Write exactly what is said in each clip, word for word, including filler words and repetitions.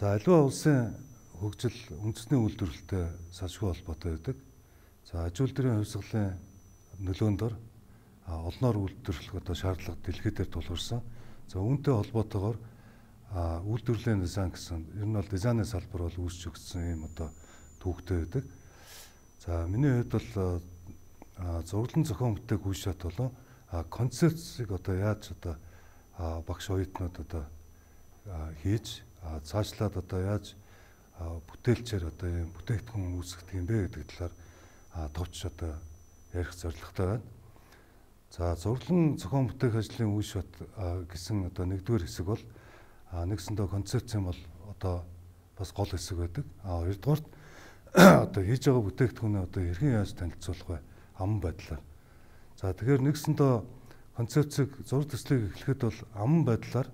За аливаа улсын хөгжил үндэсний үйлдвэрлэлтэй салшгүй холбоотой байдаг. За аж үйлдвэрийн хувьсгалын нөлөөндор олноор үйлдвэрлэх одоо шаардлага дэлхийдээр тулгарсан. За үүнтэй холбоотойгоор үйлдвэрлэлийн дизайн гэсэн ер нь бол дизайны салбар бол үүсч өгсөн юм одоо түүхтэй байдаг. За миний хувьд бол зураглан зохион бүтээх үе шат болон концепцийг одоо яаж одоо багш оюутнууд одоо хийж цаашлаад одоо яаж бүтээлчээр одоо юм бүтээгдэхүүн үүсгэх юм бэ гэдэг талаар товч одоо ярих зорилготой байна. За зураглан зохион бүтээх ажлын үе шат гэсэн одоо нэгдүгээр хэсэг бол нэгсэндээ концепц юм бол одоо бас гол хэсэг байдаг. А хоёрдугаар одоо хийж байгаа бүтээгдэхүүнээ одоо хэрхэн яаж танилцуулах вэ? Аман байдлаар. За тэгэхээр нэгсэндээ концепцийг зураг төслийг эхлэхэд бол аман байдлаар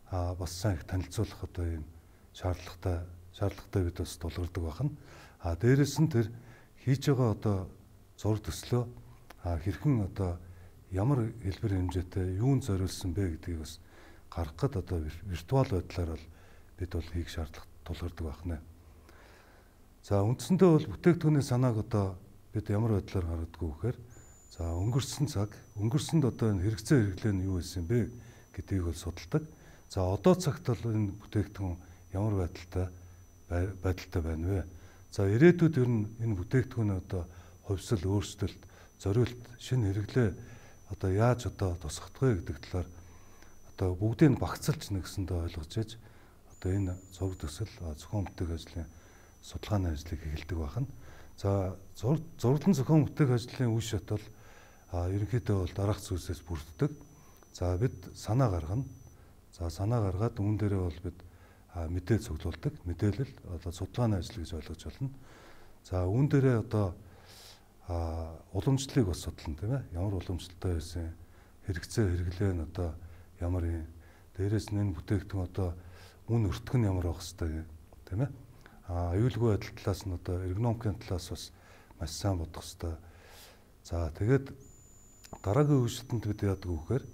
бас сайн их танилцуулах одоо юм шаардлагатай шаардлагатай бид бас тулгардаг байна. А дээрэс нь тэр хийж байгаа одоо зураг төслөө хэрхэн одоо ямар хэлбэр хэмжээтэй юунд зориулсан бэ гэдгийг бас гаргахад одоо виртуал байдлаар бол бид бол хийх шаардлага тулгардаг байна. За үндсэндээ бол бүтээгдэхүүний санааг одоо бид ямар байдлаар гаргадаг вэ гэхээр за өнгөрсөн цаг өнгөрсөнд одоо энэ хэрэгцээ хэрэглээ нь юу байсан бэ гэдгийг бол судалдаг. За одоо цагт бол энэ бүтээгдэхүүн ямар байдалтай байдалтай байна вэ? За ирээдүйд ер нь энэ бүтээгдэхүүний одоо хувьсэл өөрчлөлт, зориулт, шинэ хэрэглээ одоо яаж одоо тусгах вэ гэдэг талаар одоо бүгдийг багцалж нэгсэндээ ойлгож ээж одоо энэ зураг төсөл зохион бүтээх ажлын судалгааны ажлыг эхэлдэг байна. За зураглан зохион бүтээх ажлын үе шат бол ерөнхийдөө бол дараах зүйлсээс бүрддэг. За бид санаа гаргана. За санаа гаргаад үүн дээрээ бол бид мэдээ цуглуулдаг. Мэдээлэл одоо судалгааны ажил гэж ойлгож байна. За үүн дээрээ одоо уламжлалыг бас судална тийм ээ. Ямар уламжлалтай байсан, хэрэгцээ хэрэглээ нь одоо ямар юм. Дээрээс нь энэ бүтээгдэхүүн одоо үн өртөх нь ямар байх хэвээр тийм ээ. А аюулгүй байдал талаас нь одоо эргономикийн талаас бас маш сайн бодох хэвээр. За тэгээд дараагийн үе шатанд бид яадаг вэ гэхээр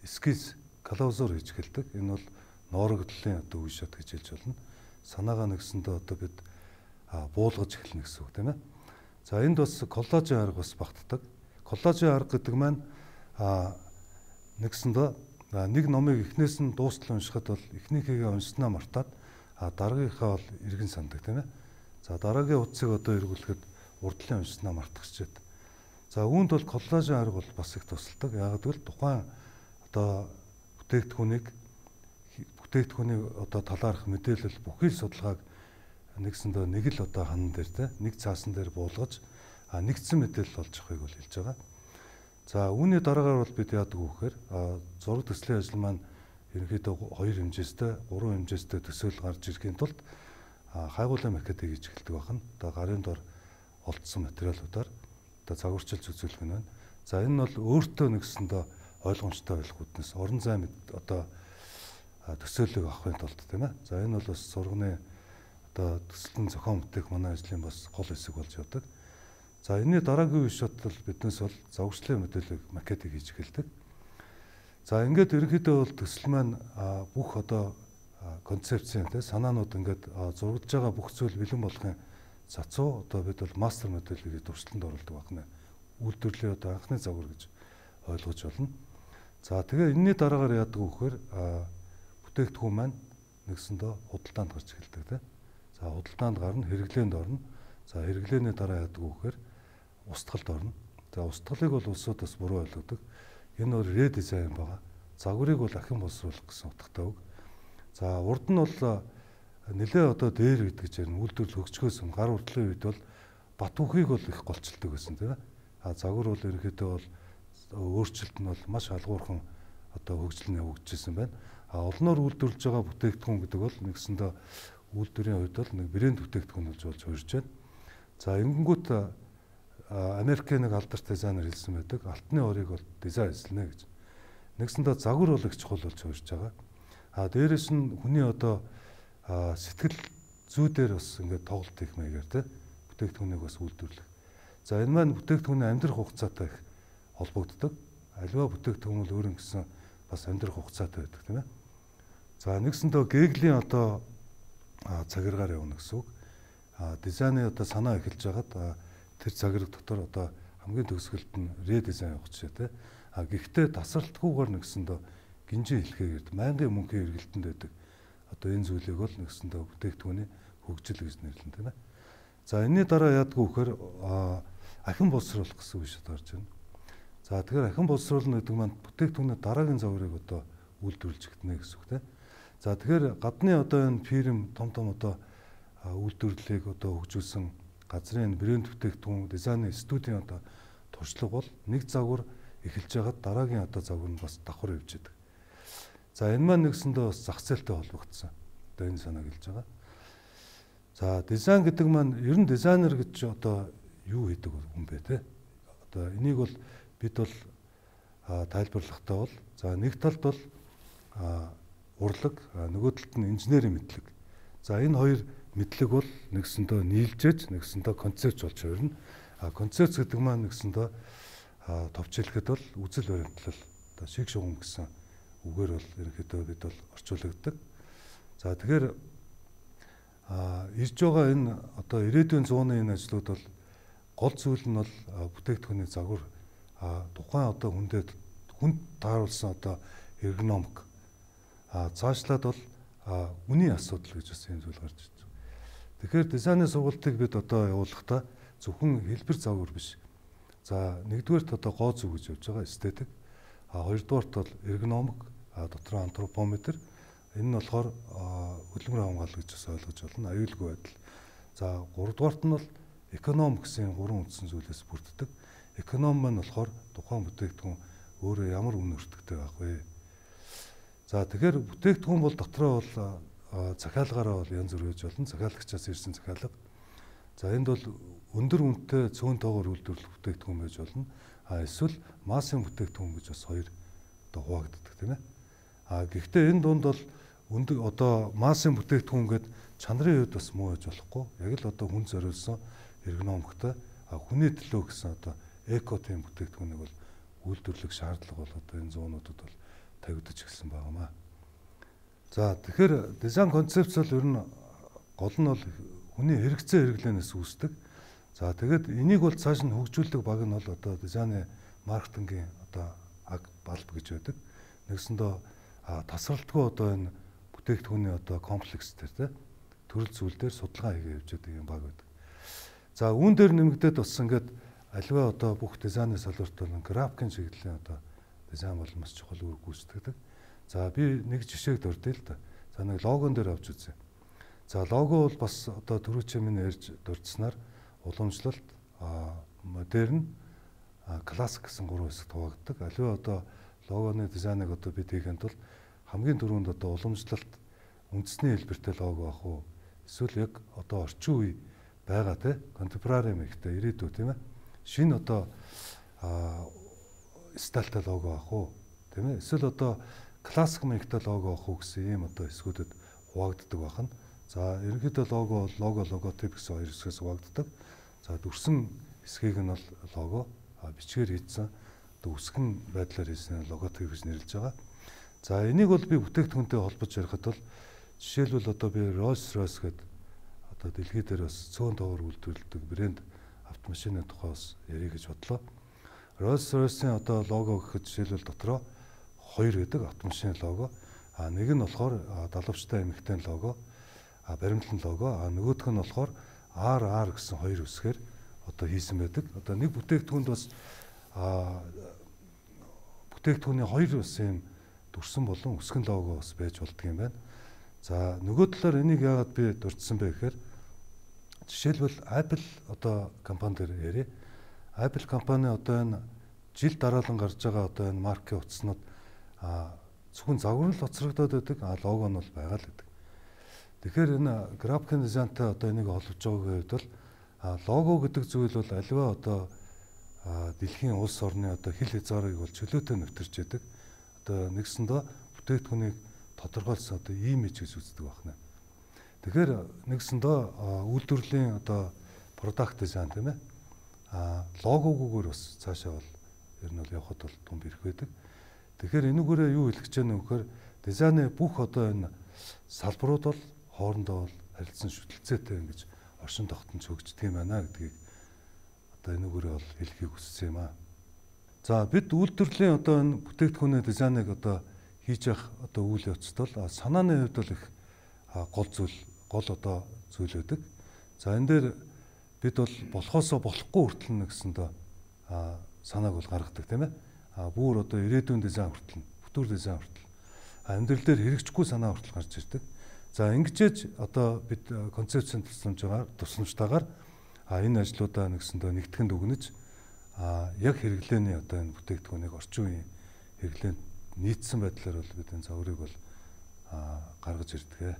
эскиз калаузуур хийж эхэлдэг. Энэ бол ноороглолын одоо үе шат гэж хэлж болно. Санаагаа нэгсэндээ одоо бид буулгаж эхэлнэ гэсэн үг тийм ээ. За энд бас коллажийн арга бас багтдаг. Коллажийн арга гэдэг маань нэгсэндээ нэг номыг эхнээс нь дуустал уншихад бол эхнийхээ уншснаа мартаад дараагийнхаа бол эргэн сандаг тийм ээ. За дараагийн утсыг одоо эргүүлэхэд урдлын уншснаа мартах чийд. За үүнд бол коллажийн арга бол бас их тусалдаг. Яг гэвэл тухайн одоо бүтээгдэхүүнийг бүтээгдэхүүний одоо талаарх мэдээлэл бүхий л судалгааг нэгсэндээ нэг л одоо хан дээр те нэг цаасан дээр буулгаж нэгдсэн мэдээлэл олж авахыг бол хэлж байгаа. За үүний дараагаар бол бид яадаг вэ гэхээр зураг төслийн ажил маань ерөнхийдөө хоёр хэмжээстэй, гурван хэмжээстэй төсөөл гарч ирэхийн тулд хайгуулын макетыг хийж эхэлдэг байна. Одоо гарын дор олдсон материалуудаар одоо загварчилж үзүүлэх нь байна. За энэ нь бол өөртөө нэгсэндээ ойлгомжтой байх үүднээс орон зай одоо төсөөлөг авахын тулд тийм ээ. За энэ бол бас сурганы одоо төсөлтөн зохион бүтээх манай ажлын бас гол хэсэг болж явдаг. За энэний дараагийн үе шат бол биднээс бол загварчлалын мэдээлэл макетыг хийж эхэлдэг. За ингээд ерөнхийдөө бол төсөл маань бүх одоо концепцийн те санаанууд ингээд зургаж байгаа бүх зүйл бэлэн болохын цацуу одоо бид бол мастер мэдээллийг туршилтанд оруулдаг байна. Үйлдвэрлэлийн одоо анхны загвар гэж ойлгож байна. За тэгээ энэний дараагаар яадаг вэ гэхээр бүтээгдэхүүн маань нэгсэндээ худалдаанд гарч эхэлдэг те. За худалдаанд гарна, хэрэглээнд орно. За хэрэглээний дараа яадаг вэ гэхээр устгалд орно. За устгалыг бол улсууд бас буруу ойлгодог. Энэ бол редизайн байгаа. Загварыг бол ахин боловсруулах гэсэн утгатай үг. За урд нь бол нэлээ одоо дээр гэдэг чинь үйлдвэрлэл хөгжихөөс гар урдлын үед бол бат үхийг бол их голчилдог байсан тийм ээ. А загвар бол ерөнхийдөө бол өөрчлөлт нь бол маш алгуурхан одоо хөгжил нь явагдажсэн байна. А олноор үйлдвэрлэж байгаа бүтээгдэхүүн гэдэг бол нэгсэндээ үйлдвэрийн хувьд бол нэг брэнд бүтээгдэхүүн болж болж хөрж байна. За ингэнгүүт Америкийн нэг алдарт дизайнер хэлсэн байдаг. Алтны орыг бол дизайн хийлнэ гэж. Нэгсэндээ загвар бол их чухал болж хөрж байгаа. А дээрэс нь хүний одоо сэтгэл зүй дээр бас ингээд тоглолт хийх маягаар те бүтээгдэхүүнийг бас үйлдвэрлэх. За энэ маань бүтээгдэхүүний амьдрах хугацаатай их холбогддог. Аливаа бүтээгдэхүүн бол өөр юм гэсэн бас амьдрах хугацаатай байдаг тийм ээ. За нэгсэндээ Геглийн одоо цагиргаар явна гэсэн үг. Дизайны одоо санаа эхэлж хагаад тэр цагираг дотор одоо хамгийн төгсгөлд нь редизайн явах жишээ те. А гэхдээ тасралтгүйгээр нэгсэндээ гинжин хэлхээгээд байнгын мөнхийн эргэлтэнд байдаг. Одоо энэ зүйлийг бол нэгсэндээ бүтээгдэхүүний хөгжил гэж нэрлэн тийм ээ. За энэний дараа яадгүй вөхөр ахин боловсруулах гэсэн үг шийд гарч байна. За тэгэхээр ахин боловсруулна гэдэг маань бүтээгдэхүүний дараагийн загварыг одоо үйлдвэрлэж гэнэ гэсэн үг тийм. За тэгэхээр гадны одоо энэ фирм том том одоо үйлдвэрлэлийг одоо хөгжүүлсэн газрын брэнд бүтээгдэхүүн дизайны студийн одоо туршлага бол нэг загвар эхэлж байгаад дараагийн одоо загвар нь бас давхар явж байдаг. За энэ маань нэгсэндээ бас зах зээлтэй холбогдсон. Одоо энэ санааг хэлж байгаа. За дизайн гэдэг маань ер нь дизайнер гэж одоо юу хийдэг хүн бэ те? Одоо энийг бол бид бол тайлбарлахдаа бол за нэг талд бол урлаг, нөгөө талд нь инженерийн мэдлэг. За энэ хоёр мэдлэг бол нэгсэндээ нийлжээж нэгсэндээ концепц болж хувирна. А концепц гэдэг маань нэгсэндээ товчлоход бол үзэл баримтлал одоо шиг шугам гэсэн үгээр бол ерөнхийдөө бид бол орчуулдаг. За тэгэхээр а ирж байгаа энэ одоо ирээдүйн зууны энэ ажлууд бол гол зүйл нь бол бүтээгдэхүүний загвар тухайн одоо хүндэд хүнд тааруулсан одоо эргономик а цаашлаад бол үнийн асуудал гэж бас энэ зүйл гарч ирж байна. Тэгэхээр дизайны сургалтыг бид одоо явуулахдаа зөвхөн хэлбэр загвар биш. За нэгдүгээрт одоо гоо зүг гэж явж байгаа эстетик. А хоёрдугаарт бол эргономик, а дотор антропометр. Энэ нь болохоор хөдөлмөр хамгаалал гэж бас ойлгож байна. Аюулгүй байдал. За гуравдугаарт нь бол эконом гэсэн гурван үндсэн зүйлээс бүрддэг. Эконом маань болохоор тухайн бүтээгдэхүүн өөрөө ямар үнэ өртөгтэй байх вэ? За тэгэхээр бүтээгдэхүүн бол дотроо бол захиалгаараа бол янз бүр гэж болно. Захиалагчаас ирсэн захиалга. За энд бол өндөр үнэтэй цөөн тоогоор үйлдвэрлэх бүтээгдэхүүн байж болно. А эсвэл массын бүтээгдэхүүн гэж бас хоёр одоо хуваагддаг тийм ээ. А гэхдээ энэ дунд бол өндөр одоо массын бүтээгдэхүүн гэдэг чанарын хувьд бас муу байж болохгүй. Яг л одоо хүн зориулсан эргономиктой а хүний төлөө гэсэн одоо эко тийм бүтээгдэхүүнийг бол үйлдвэрлэх шаардлага бол одоо энэ зуунуудад бол тавигдаж гисэн байнамаа. За тэгэхээр дизайн концепц бол ер нь гол нь бол хүний хэрэгцээ хэрэглэнээс үүсдэг. За тэгээд энийг бол цааш нь хөгжүүлдэг баг нь бол одоо дизайны маркетингийн одоо аг балб гэж байдаг. Нэгсэндээ тасралтгүй одоо энэ бүтээгдэхүүний одоо комплекс дээр тэ төрөл зүйл дээр судалгаа хийгээ явж байгаа юм баг байдаг. За үүн дээр нэмэгдээд бас ингээд аливаа одоо бүх дизайны салбарт бол графикийн чиглэлийн одоо дизайн бол маш чухал үр гүйцэтгэдэг. За би нэг жишээг дурдъя л да. За нэг логон дээр авч үзье. За лого бол бас одоо түрүү чимэн ярьж дурдсанаар уламжлалт, модерн, классик гэсэн гурван хэсэгт хуваагддаг. Аливаа одоо логоны дизайныг одоо бид хийхэд бол хамгийн түрүүнд одоо уламжлалт үндэсний хэлбэртэй лого ах уу? Эсвэл яг одоо орчин үе байгаа те контемпорари мэгтэй ирээдүй тийм ээ. Шинэ одоо стайлтай лого ах уу? Тийм ээ. Эсвэл одоо классик мэгтэй лого ах уу гэсэн ийм одоо хэсгүүдэд хуваагддаг байна. За ерөнхийдөө лого бол лого логотип гэсэн хоёр хэсгээс хуваагддаг. За дүрсэн хэсгийг нь бол лого, бичгээр хийсэн үсгэн байдлаар хийсэн логотип гэж нэрлэж байгаа. За энийг бол би бүтээгдэхүүнтэй холбож ярихад бол жишээлбэл одоо би Rolls-Royce гэдэг одоо дэлхий дээр бас цөөн тоогоор үйлдвэрлэдэг брэнд автомашины тухай бас ярих гэж бодлоо. Rolls-Royce-ийн одоо лого гэхэд жишээлбэл дотроо хоёр гэдэг автомашины лого. А нэг нь болохоор далавчтай эмэгтэй лого, а баримтлан лого, а нөгөөх нь болохоор ар ар гэсэн хоёр үсгээр одоо хийсэн байдаг. Одоо нэг бүтээгдэхүүнд бас а бүтээгдэхүүний хоёр бас юм дүрсэн болон үсгэн лого бас байж болдго юм байна. За нөгөө талаар энийг яагаад би дурдсан бэ гэхээр жишээлбэл Apple одоо компани дээр ярив. Apple компани одоо энэ жил дараалан гарч байгаа одоо энэ маркийн утаснууд а зөвхөн загвар л хоцрогдоод байдаг, а лого нь бол байгаа л гэдэг. Тэгэхээр энэ графикийн дизайнтай одоо энийг холбож байгаагийн хувьд бол лого гэдэг зүйл бол аливаа одоо дэлхийн улс орны одоо хил хязгаарыг бол чөлөөтэй нэвтэрч яадаг. Одоо нэгсэндээ бүтээгдэхүүнийг тодорхойлсон одоо имиж гэж үздэг байна. Тэгэхээр нэгсэндээ үйлдвэрлэлийн одоо продакт дизайн тийм ээ. А логогоор бас цаашаа бол ер нь бол явхад бол том бэрх байдаг. Тэгэхээр энүүгээрээ юу хэлэх гэж байна вэ гэхээр дизайны бүх одоо энэ салбарууд бол хоорондоо бол харилцан шүтэлцээтэй ингэж оршин тогтнож хөгждөг юм байна гэдгийг одоо энэгээр бол хэлхийг хүссэн юм аа. За бид үйлдвэрлэлийн одоо энэ бүтээгдэхүүний дизайныг одоо хийж явах одоо үйл явцд бол санааны хувьд бол их гол зүйл гол одоо зүйл байдаг. За энэ дээр бид бол болохоосоо болохгүй хүртэл гэсэн доо санааг бол гаргадаг тийм ээ. А бүр одоо ирээдүйн дизайн хүртэл, бүтүүр дизайн хүртэл амьдрал дээр хэрэгжихгүй санаа хүртэл гарч ирдэг. За ингэжээж одоо бид концепцийн тусламжаар тусламжтайгаар а энэ ажлуудаа нэгсэндээ нэгтгэн дүгнэж а яг хэрэглээний одоо энэ бүтээгдэхүүнийг орчин үеийн хэрэглээнд нийцсэн байдлаар бол бид энэ цаврыг бол гаргаж ирдэг.